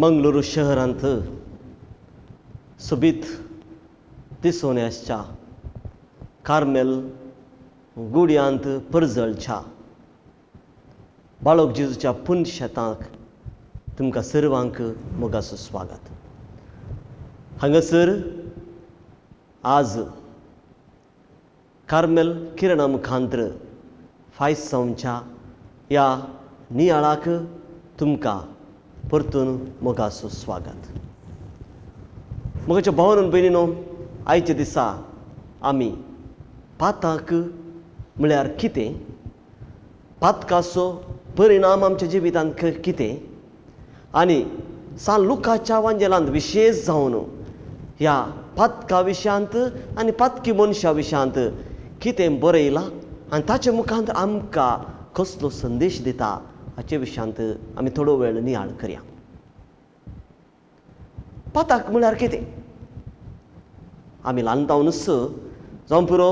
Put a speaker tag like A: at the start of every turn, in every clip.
A: मंगळुरू शहरांत सोबीत दिसून आसच्या कार्मेल गुड्यांत परजळच्या बाळक जेजूच्या पुनशेताक तुमकां सर्वांक मोगाचो स्वागत. हांगासर आज कार्मेल किरणा मुखांत्र फायसांवच्या ह्या नियाळाक तुमकां परतून मोगाचो स्वागत. मोगाच्या भावान भयणीनो, आयच्या दिसा आमी पाताक म्हळ्यार कितें, पातकाचो परिणाम आमच्या जिवितांत कितें आनी सान लुकाच्या वांजेलांत विशेश जावन ह्या पातका विशयांत आनी पातकी मनशा विशयांत कितें बरयलां आनी ताचे मुखांत आमकां कसलो संदेश दिता हाचे विशयांत आमी थोडो वेळ नियाळ करया. पाताक म्हळ्यार कितें? आमी ल्हान जावनच जावं पुरो,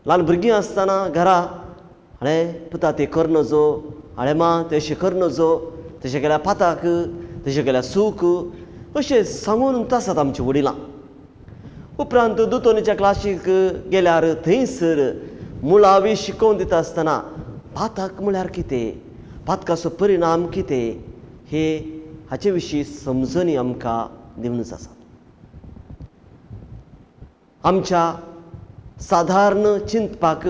A: ल्हान भुरगीं आसतना घरा हाणें पुता तें कर नजो, हाणें मा तें अशें कर नजो, तशें केल्यार पाताक, तशें केल्यार सूख अशें सांगून आसात आमची वडिलां. उपरांत दोतोनीच्या क्लासीक गेल्यार थंयसर मुळावी शिकोवन दिता आसतना पाताक म्हळ्यार कितें, पातकाचो परिणाम कितें हे हाचे विशीं समजणी आमकां दिवनच आसा. आमच्या सादारण चिंतपाक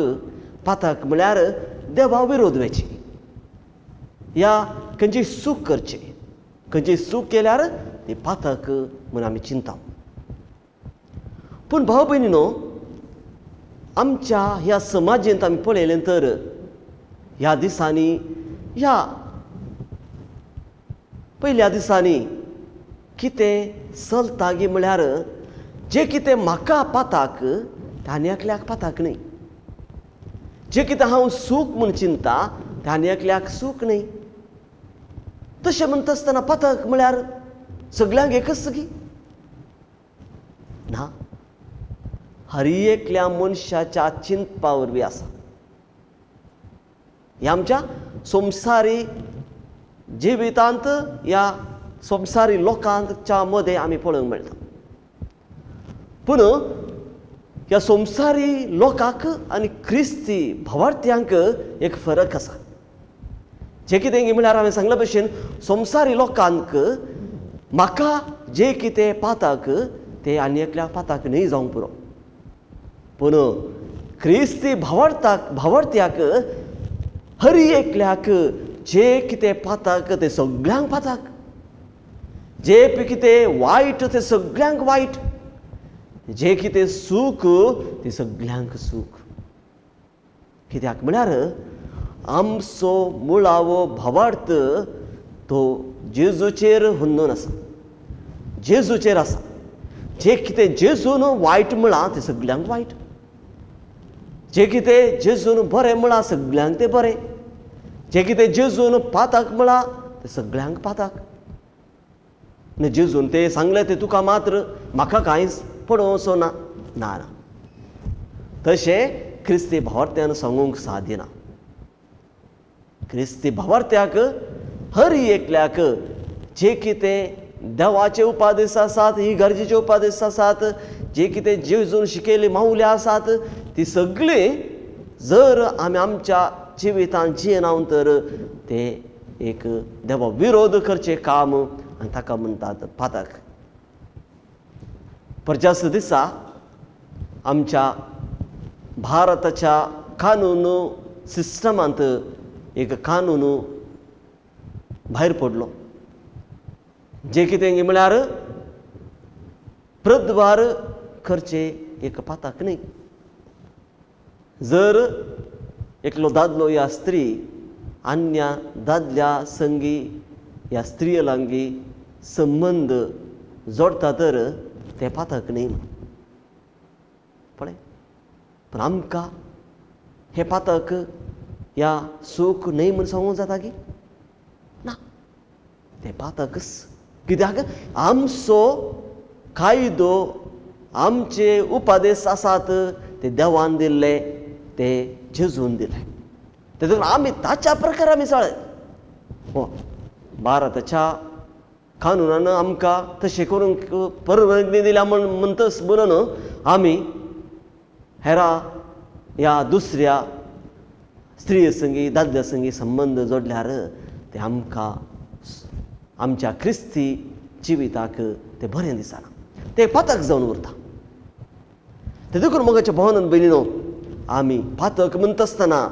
A: पातक म्हळ्यार देवा विरोध वयची या खंयची चूक करची, खंयची चूक केल्यार ती पातक म्हूण आमी चिंता. पूण भाव भयणीनो, आमच्या ह्या समाजेंत आमी पळयलें तर ह्या दिसांनी, ह्या पयल्या दिसांनी कितें चलता गी म्हळ्यार जें कितें म्हाका पाताक तें आनी एकल्याक पाताक न्हय, जें कितें हांव सूख म्हूण चिंता तें आनी एकल्याक सूख न्हय. तशें म्हणटा आसतना पातक म्हळ्यार सगल्यांक एकच गी ना, हर एकल्या मनशाच्या चिंतपा वरवीं आसा. ह्या आमच्या संवसारी जिवितांत, ह्या संवसारी लोकांच्या मदें आमी पळोवंक मेळटा. पूण ह्या संवसारी लोकांक आनी क्रिस्ती भावार्थ्यांक एक फरक आसा. जें कितें म्हळ्यार हांवें सांगल्या भशेन संवसारी लोकांक म्हाका जें कितें पाताक तें आनी एकल्या पाताक न्हय जावंक पुरो, पूण क्रिस्ती भावार्थ्याक हर एकल्याक जें कितें पाताक तें सगल्यांक पाताक, जें कितें वायट तें सगल्यांक वायट, जें कितें सूख तें सगल्यांक सूख. कित्याक म्हळ्यार आमचो मुळावो भावार्थ तो जेजूचेर हुंदून आसा, जेजूचेर आसा. जें कितें जेजून वायट म्हळां तें सगल्यांक वायट, जें कितें जेजून बरें म्हळां सगल्यांक तें बरें, जें कितें जेजून पाताक म्हळां तें सगल्यांक पाताक. आनी जेजून तें सांगलें तें तुका मात्र, म्हाका कांयच पडोवचो ना, ना ना, तशें क्रिस्ती भावार्थ्यान सांगूंक सादिना. क्रिस्ती भावार्थ्याक हर एकल्याक जे कितें देवाचे उपादेश आसात, ही गरजेचे उपादेश आसात, जे कितें जेजून शिकयल्ली मावल्या आसात ती सगळीं जर आमी आमच्या जिवितांत जियेना तर ते एक देवा विरोध करचें काम आनी ताका म्हणटात पातक. परजास दिसा आमच्या भारताच्या कानून सिस्टमांत एक कानून भायर पडलो, जें कितें म्हळ्यार प्रद्वार करचें एक पातक न्हय. जर एकलो दादलो या स्त्री अन्य दादल्या संगी या स्त्रिये लागीं संबंद जोडटा तर तें पातक न्हय. पळय, पूण आमकां हें पातक या सूख न्हय म्हूण सांगूंक जाता की ना, तें पातकच. कित्याक आमचो कायदो, आमचे उपादेश आसात ते देवान दिल्ले, ते जेजून दिले, तेतून आमी ताच्या प्रकार आमी चळत. हो भारताच्या कानुनान आमकां तशें करूंक परवानगी दिल्या म्हण म्हणटच म्हणून आमी हेरा ह्या दुसऱ्या स्त्रिये संगी दादल्या संगी संबंद जोडल्यार ते आमकां आमच्या क्रिस्ती जिविताक तें बरें दिसना, तें पातक जावन उरता. ते देखून मोगाच्या भावान भयणीनो, आमी पातक म्हणटा आसतना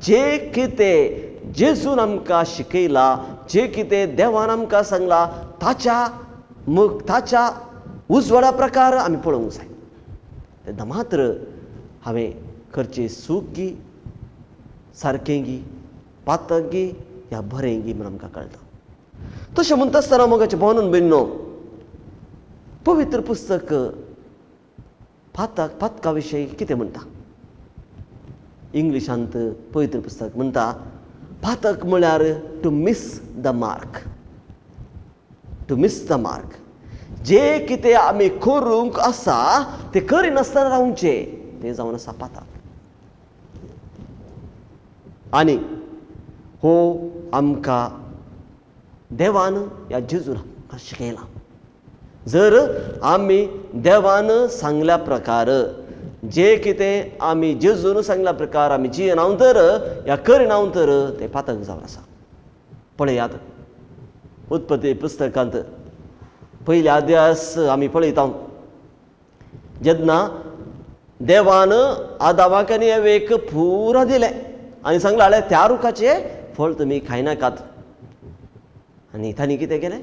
A: जें कितें जेजून आमकां शिकयलां, जें कितें देवान आमकां सांगलां ताच्या ताच्या उजवाडा प्रकार आमी पळोवंक जाय. तेन्ना मात्र हांवें करचें चूक गी, सारकें गी, पातक गी या बरें गी म्हूण आमकां कळटा. तशें म्हणटा आसतना मोगाच्या भावान भयणीनो, पवित्र पुस्तक पातक पातका विशयी कितें म्हणटा? इंग्लिशांत पवित्र पुस्तक म्हणटा पातक म्हळ्यार to miss the mark, to miss the mark. जे कितें आमी करूंक आसा तें करिनासतना रावचें तें जावन आसा पातक. आनी हो आमकां देवान ह्या जेजून आमकां शिकयला. जर आमी देवान सांगल्या प्रकार जे कितें आमी जेजून सांगल्या प्रकार आमी जियेनाव तर ह्या करिनाव तर तें पातक जावन आसा. पळयात उत्पत्ती पुस्तकांत पयल्या अध्यास आमी पळयता, जेन्ना देवान आदामाक आनी एवेक पुरा दिलें आनी सांगलें जाल्यार त्या रुखाचें फळ तुमी खायनाकात. आनी तांणी कितें केलें?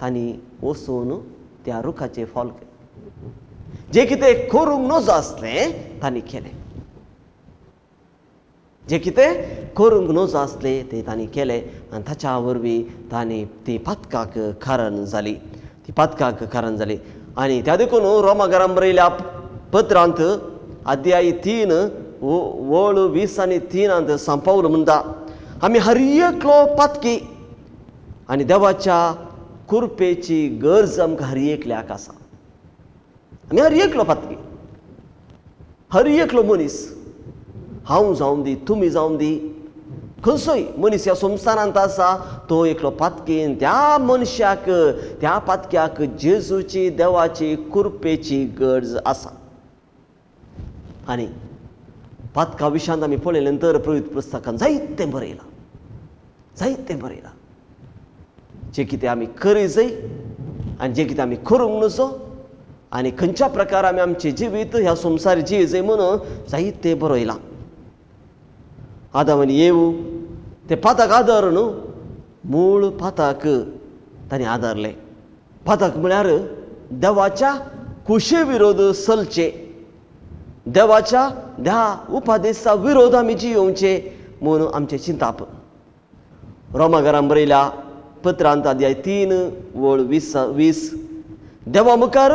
A: तांणी वचून त्या रुखाचें फळ जें कितें करूंक नजो आसलें तांणी केलें, जें कितें करूंक नजो आसलें तें तांणी केलें आनी ताच्या वरवीं तांणी ती पातकाक कारण जाली, ती पातकाक कारण जाली. आनी त्या देखून रोमा घरान बरयल्या पत्रांत अध्याय 3 वळ 20 आनी 3 सांपावल म्हणटा, आमी हर एकलो पातकी आनी देवाच्या कृपेची गरज आमकां हर एकल्याक आसा. आमी हर एकलो पातकी, हर एकलो मनीस, हांव जावं दी, तुमी जावं दी, खंयचोय मनीस ह्या संवसारांत आसा तो एकलो पातकी. त्या मनशाक, त्या पातक्याक जेजूची देवाची कृपेची गरज आसा. आनी पातका विशयांत आमी पळयलें तर पवित्र पुस्तकान जायतें बरयलां, जायतें बरयलां. जें कितें आमी करी जाय आनी जें कितें आमी करूंक नजो आनी खंयच्या प्रकार आमी आमचें जिवीत ह्या संवसार जिये जाय म्हणून जायतें बरयलां. आदाम आनी येव ते पातक आदार न्हू, मूळ पातक तांणी आदारलें. पातक म्हळ्यार देवाच्या कुशे विरोध चलचे, देवाच्या ह्या उपादेसा विरोध आमी जियोवचे म्हणून आमचें चिंताप. रोमा घरान बरयल्या पत्रांत अध्याय 3 वळ 20, देवा मुखार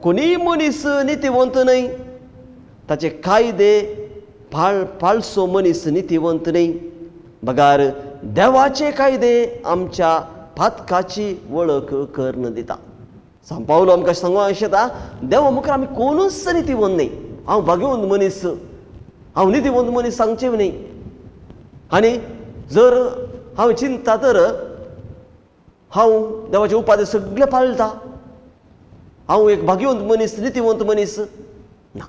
A: कोणीय मनीस नितीवंत न्हय, ताचे कायदे पाळसो मनीस नितीवंत न्हय, बगार देवाचे कायदे आमच्या पातकाची वळख करून दिता. सांपावलो आमकां सांगूंक शकता, देवा मुखार आमी कोणूच नितीवंत न्हय. हांव भाग्यवंत मनीस, हांव नितीवंत मनीस सांगचें न्हय. आनी जर हांव चिंता तर हांव देवाचे उपादे सगळे पाळटा, हांव एक भाग्यवंत मनीस, नितीवंत मनीस ना,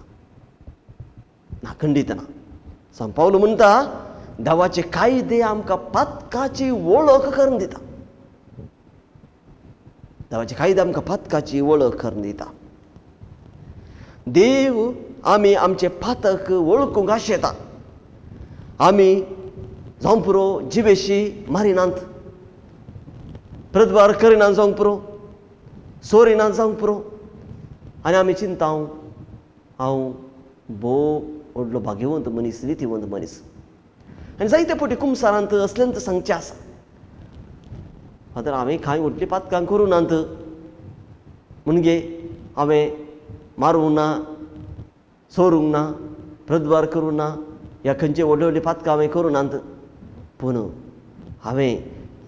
A: ना, खंडीत ना. सांपावलो म्हणटा देवाचे कायदे आमकां पातकाची वळख करून दिता, देवाचे कायदे आमकां पातकाची वळख करून दिता. देव आमी आमचे पातक वळखूंक आशेता. आमी जावंक पुरो जिवेशी मारिनात, प्रदभार करिना जावंक पुरो, सोरिना जावंक पुरो, आनी आमी चिंता हांव भोव व्हडलो भाग्यवंत मनीस, नितीवंत मनीस. आनी जायते फावटी कुमसारांत असलेंच सांगचें आसा, फादर हांवें कांय व्हडलीं पातकां करूं नात, म्हणजे हांवें मारूंक ना, चोरूंक ना, प्रदभार करूं ना, ह्या खंयचे व्हडली व्हडली पातकां हांवें करूं नात, पूण हांवें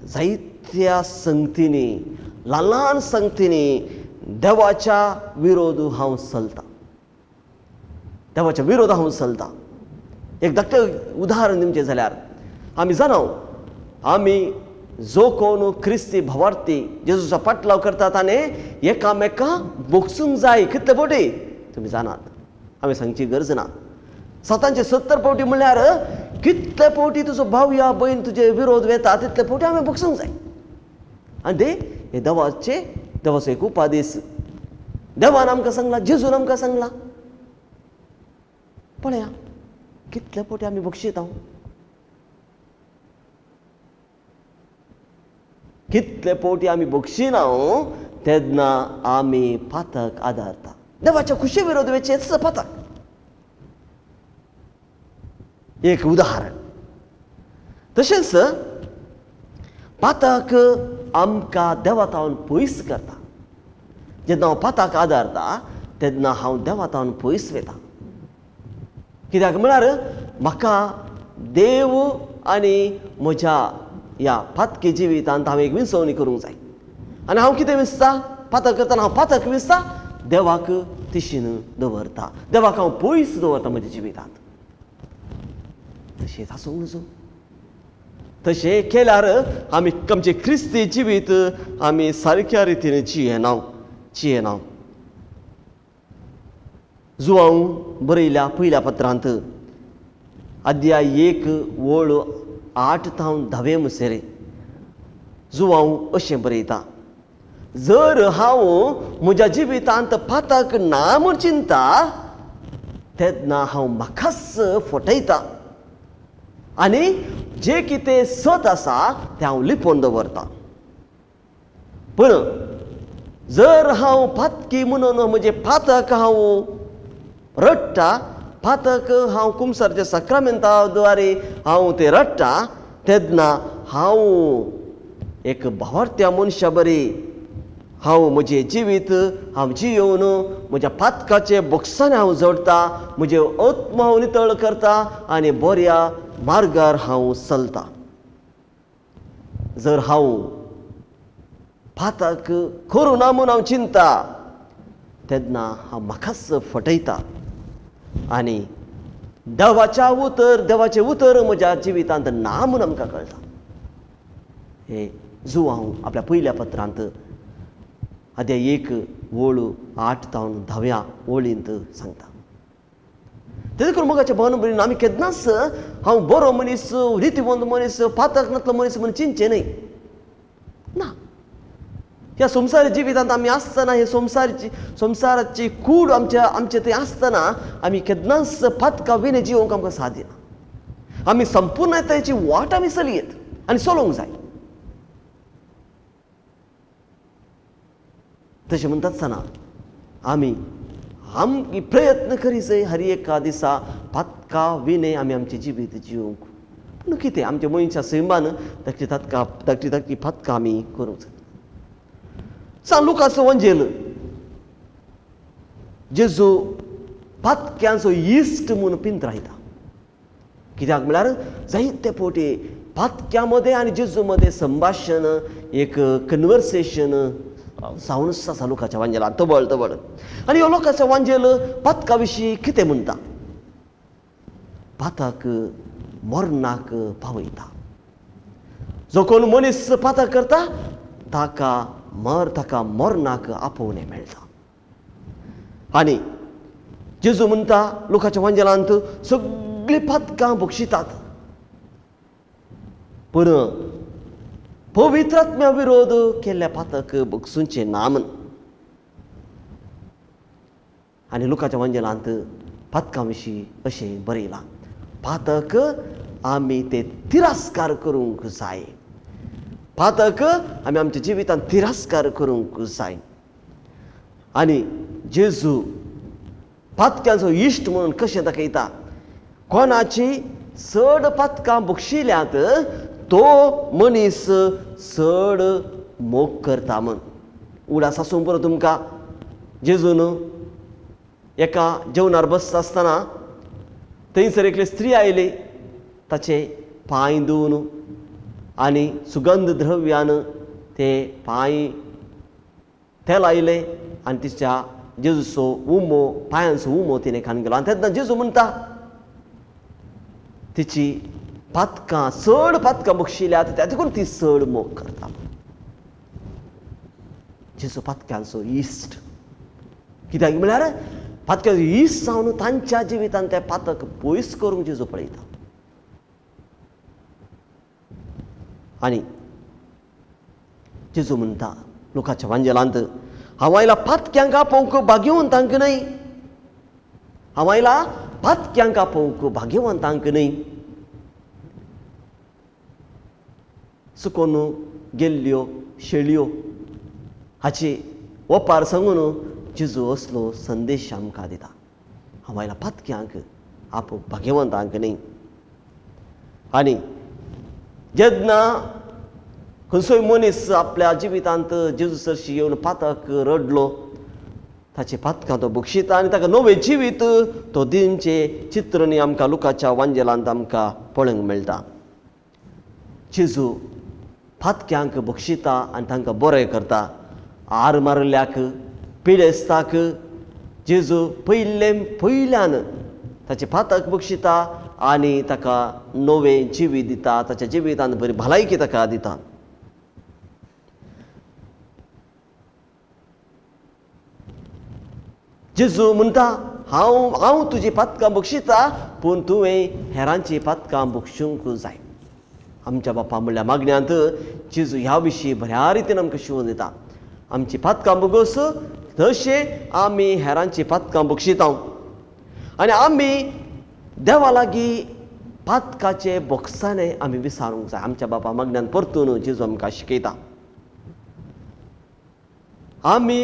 A: जायत्या संगतींनी, ल्हान ल्हान संगतींनी देवाच्या विरोध हांव चलतां, देवाच्या विरोध हांव चलतां. एक धाकटें उदाहरण दिवचें जाल्यार आमी जाणाव आमी जो कोण क्रिस्ती भावार्थी जेजूचो पाटलाव करता ताणें एकामेका भोगसूंक जाय. कितले फावटी तुमी जाणात, हांवें सांगची गरज ना. 770 फावटी म्हणल्यार कितले फावटी तुजो भाव या भयण तुजे विरोध वेता तितले फावटी हांवें भोगसूंक जाय. आनी ते हे देवाचो एक उपादेस. देवान आमकां सांगला, जेजून आमकां सांगला. पळया कितले फावटी आमी बक्षिता, कितले फावटी आमी बक्षिना तेन्ना आमी पातक आदारता. देवाच्या खुशी विरोध वेचेच पातक. एक उदाहरण. तशेंच पातक आमकां देवा थावन पयस करता. जेन्ना हांव पाताक आदारता तेन्ना हांव देवा थावन पयस वता. कित्याक म्हळ्यार म्हाका देव आनी म्हज्या ह्या पातकी जिवितांत हांवें एक विंचवणी करूंक जाय. आनी हांव कितें विंचता? पातक करतना हांव पातक विंचता, देवाक तिशीन दवरता, देवाक हांव पयस दवरता म्हज्या जिवितांत. तशेंच आसूंक नजो. तशें केल्यार आमी आमचें क्रिस्ती जिवीत आमी सारक्या रितीन जियेना. जुवांव बरयल्या पयल्या पत्रांत अध्याय 1 ओळ 8 थावन 10 मुसेरे जुवांव अशें बरयता, जर हांव म्हज्या जिवितांत पातक ना म्हूण चिंता तेन्ना हांव म्हाकाच फटयता आनी जें कितें सत आसा तें हांव लिपोवन दवरता. पूण जर हांव पातकी म्हणून म्हजें पातक हांव रडटा, पातक हांव कुमसारच्या साक्रामेंता द्वारे हांव तें रडटा तेन्ना हांव एक भावार्थ्या मनशा बरी हांव म्हजें जिवीत हांव जियोवन म्हज्या पातकाचे बोक्सांनी हांव जोडटा, म्हजें आत्मा हांव नितळ करता आनी बऱ्या मार्गार हांव चलता. जर हांव पातक करूं ना म्हूण हांव चिंता तेन्ना हांव म्हाकाच फटयता आनी देवाचें उतर म्हज्या जिवितांत ना म्हूण आमकां कळटा. हे जुवांव आपल्या पयल्या पत्रांत अध्याय 1 ओळ 8 थावन 10 ओळींत सांगता. तेजे करून मोगाच्या भावान भयणीन आमी केन्नाच हांव बरो मनीस, रितीवंत मनीस, पातक नातलो मनीस म्हूण चिंतचें न्हय ना. ह्या संवसारी जिवितांत आमी आसतना, हे संवसाराची कूड आमचे थंय आसतना आमी केन्नाच पातका विणे जिवंक आमकां साध्य ना. आमी संपूर्णतायेची वाट आमी चलयेत आनी चलोवंक जाय. तशें म्हणटा आसतना आमी आमकी प्रयत्न करी जाय हर एका दिसा पातका विणे आमी आमचें जिवीत जिवंक. पूण कितें आमच्या मनशा सैमान धाकटी धाकटी पातकां आमी करूंक जाय. सान लुकाचो वंजेल जेजू पातक्यांचो इश्ट म्हूण पिंत्रायता. कित्याक म्हळ्यार जायते फावटी पातक्यां मदें आनी जेजू मदें संभाशण, एक कन्वर्सेशन जावनच आसा लुकाच्या वांजेलान तबळ तबळ. आनी ह्यो लोकांचो वांजेल पातका विशीं कितें म्हणटा? पातक मरणाक पावयता. जो कोण मनीस पातक करता ताका मरणाक आपोवणें मेळटा. आनी जेजू म्हणटा लोकांच्या वांजेलांत सगळीं पातकां बक्षितात, पूण पवित्र आत्म्या विरोध केल्ल्या पातक बक्षुंचें ना म्हूण. आनी लोकांच्या वांजेलांत पातकां विशीं अशें बरयलां, पातक आमी ते तिरस्कार करूंक जाय. पातक आमी आमच्या जिवितांत तिरस्कार करूंक जाय. आनी जेजू पातक्यांचो इश्ट म्हणून कशें दाखयता? कोणाची चड पातकां बक्षिल्यांत तो मनीस चड मोग करता म्हूण. उडास आसूं पुरो तुमकां, जेजून एका जेवणार बसता आसतना थंयसर एकली स्त्री आयली, ताचे पांय धुवन आनी सुगंध द्रव्यान ते पांय तेलायले आनी तिच्या जेजूचो उमो, पांयांचो उमो तिणें खावन गेलो. आनी तेन्ना जेजू म्हणटा तिची पातकां चड पातकां बक्षिल्यात त्या देखून ती चड मोग करता. जेजू पातक्यांचो इश्ट कित्याक म्हळ्यार पातक्यांचो इश्ट जावन तांच्या जिवितांत ते पातक पयस करूंक जेजू पळयता. आनी जेजू म्हणटा लोकांच्या वांजेलांत, हांव आयला पातक्यांक आपोवंक भाग्यवंतांक न्हय, हांव आयला पातक्यांक आपोवंक भाग्यवंतांक न्हय. सुकोन गेल्ल्यो शेळयो हाची ओपार सांगून जेजू असलो संदेश आमकां दिता, हांव आयला पातक्यांक आपोवंक भाग्यवंतांक न्हय. आनी जेन्ना खंयचोय मनीस आपल्या जिवितांत जेजू सरशी येवन पातक रडलो, ताचे पातकां तो बक्षिता आनी ताका नवें जिवीत तो दिवचें चित्रणी आमकां लुकाच्या वांजेलांत आमकां पळोवंक मेळटा. जेजू पातक्यांक बक्षिता आनी तांकां बरें करता. आर मारिल्ल्याक, पिडेस्ताक जेजू पयले पयल्यान ताचें पातक बक्षिता आनी ताका नवें जिवीत दिता, ताच्या जिवितांत बरी भलायकी ताका दिता. जेजू म्हणटा, हांव हांव तुजी पातकां बक्षिता, पूण तुवें हेरांची पातकां बक्षूंक जाय. आमच्या बापा म्हणल्या मागण्यांत जेजू ह्या विशीं बऱ्या रितीन आमकां शिकोवन दिता, आमची पातकां बगोस तशें आमी हेरांची पातकां बक्षिता आनी आमी देवा लागीं पातकाचे बोक्साने आमी विसारूंक जाय. आमच्या बापा मागण्यान परतून जेजू आमकां शिकयता, आमी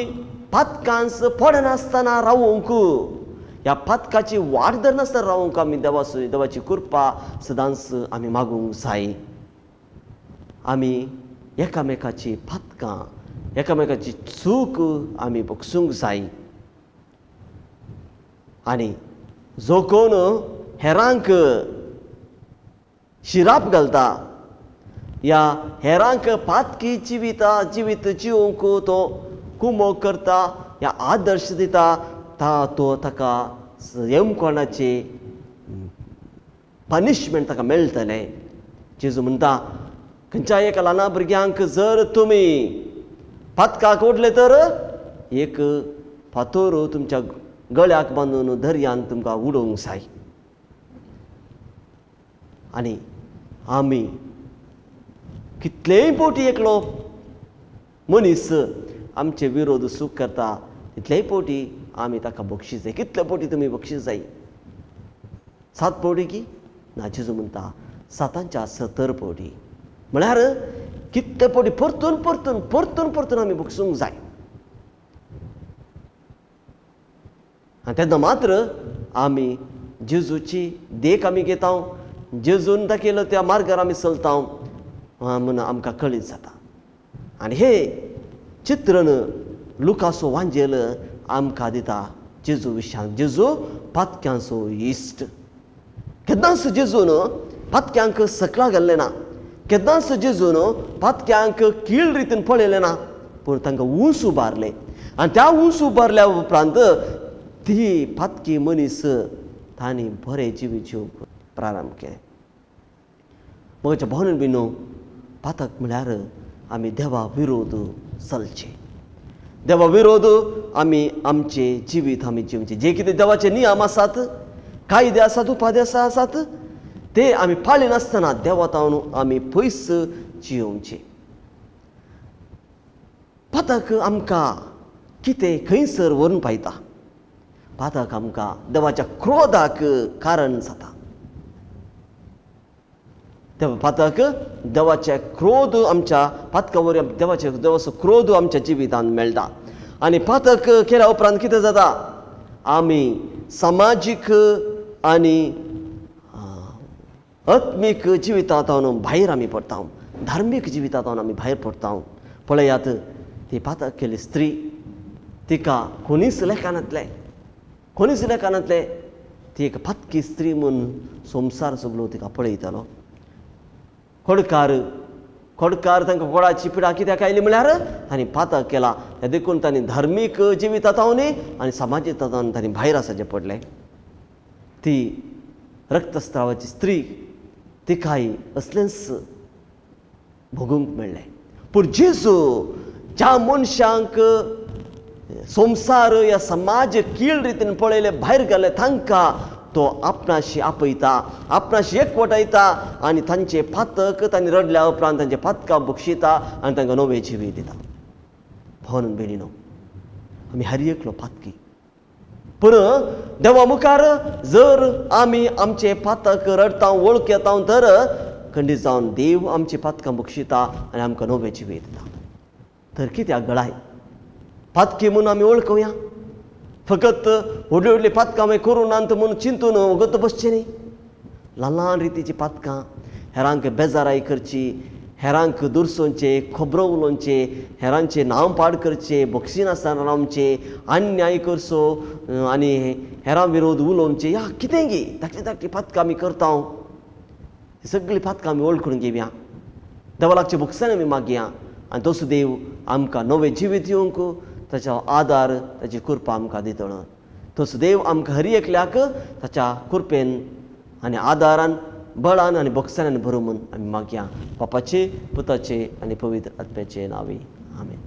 A: पातकांस पडनासतना रावूंक, ह्या पातकाची वाट धरनासतना रावूंक आमी देवाची कृपा सदांच आमी मागूंक जाय. आमी एकामेकाची पातकां, एकामेकाची चूक आमी बक्षूंक जाय. आनी जो कोण हेरांक शिराप घालता या हेरांक पातकी जिविता जिवीत जिवंक तो कुमोक करता या आदर्श दिता, तो ताका यमकोणाची पनिशमेंट ताका मेळटलें. जेजू म्हणटा, खंयच्या एका ल्हान भुरग्यांक जर तुमी पातकाक ओडले तर एक फातोर तुमच्या गळ्याक बांदून दर्यान तुमकां उडोवंक जाय. आनी आमी कितलेय पोटी एकलो मनीस आमचे विरोध चूक करता तितलेय पोटी आमी ताका बक्षीस जाय. कितले पोटी तुमी बक्षीस जाय? 7 पोटी की ना? जेजू म्हणटा 7 70 पोटी. म्हळ्यार कितले पोटी परतून परतून परतून परतून आमी बक्षूंक जाय. आनी तेन्ना मात्र आमी जेजूची देख आमी घेता, जेजून दाखयलो त्या मार्गार आमी चलता म्हूण आमकां कळीत जाता. आनी हे चित्रण लुकासो वांजेल आमकां दिता जेजू विशांत. जेजू पातक्यांचो इश्ट. केन्नाच जेजून पातक्यांक सकला घाल्लें ना, केन्नाच जेजून पातक्यांक कीळ रितीन पळयलें ना, पूण तांकां ऊंच उबारलें. आनी त्या ऊंच उबारल्या उपरांत ती पातकी मनीस तांणी बरें जिवीत जिवंक प्रारंभ केलें. म्हज्या भोवन बिनो, पातक म्हळ्यार आमी देवा विरोध चलचे, देवा विरोध आमी आमचे जिवीत आमी जिवचें. जे कितें देवाचे नियम आसात, कायदे आसात, उपादेश आसात, ते आमी पाळिनासतना देवा तावन आमी पयस जियोवचें. पातक आमकां कितें खंयसर व्हरून पायता? पातक आमकां देवाच्या क्रोधाक कारण जाता. पातक देवाचे क्रोध आमच्या पातका वरवीं देवाचे देवाचो क्रोध आमच्या जिवितांत मेळटा. आनी पातक केल्या उपरांत कितें जाता? आमी समाजीक आनी आत्मीक जिवितांत भायर आमी पडटा, धार्मीक जिवितांत आमी भायर पडटा. पळयात, ती पातक केली स्त्री, तिका कोणीच लेखनांतलें, कोणीच लेखनांतलें, ती एक पातकी स्त्री म्हूण संवसार सगलो तिका पळयतालो. खोडकार खोडकार तांकां कोडाची पिडा कित्याक आयली म्हळ्यार तांणी पातक केला, देखून तांणी धार्मीक जिवितांत आनी समाजीक तांणी भायर आसाचें पडलें. ती रक्तस्रावाची स्त्री तिकाय असलेंच भोगूंक मेळ्ळें. पूण जेजू ज्या मनशांक संवसार या समाज कीळ रितीन पळयले भायर गेले तांकां तो आपणाशी आपयता, आपणाशी एकवटायता आनी तांचे पातक तांणी रडल्या उपरांत तांचे पातकां बक्षिता आनी तांकां नवें जिवीत दिता. भावान भयणीनो, आमी हर एकलो पातकी, पूण देवा मुखार जर आमी आमचे पातक रडटा वळखता तर खंडीत जावन देव आमची पातकां बक्षिता आनी आमकां नवें जिवीत दिता. तर कित्याक गळाय पातकी म्हूण आमी वळखुया? फकत व्हडली व्हडली पातकां आमी करूं नात म्हूण चिंतून वगत बसचें न्ही. ल्हान ल्हान रितीची पातकां, हेरांक बेजाराय करची, हेरांक दुरसोवचें, खबरो उलोवचें, हेरांचें नांव पाड करचें, बक्षिनासतना रावचें, अन्याय करचो आनी हेरां विरोध उलोवचें, ह्या कितें गी धाकटी धाकटी पातकां आमी करता. सगळीं पातकां आमी वळखून घेवया, देवा लागचे बक्षान आमी मागया आनी तसो देव आमकां नवें जिवीत दिवंक ताचो आदार, ताची कृपा आमकां दितलो. तसो देव आमकां हर एकल्याक ताच्या कृपेन आनी आदारान, बळान आनी बक्षान भरूं म्हूण आमी मागया. बापाचे, पुताचे आनी पवित्र आत्म्याचे नांवी, आमेन.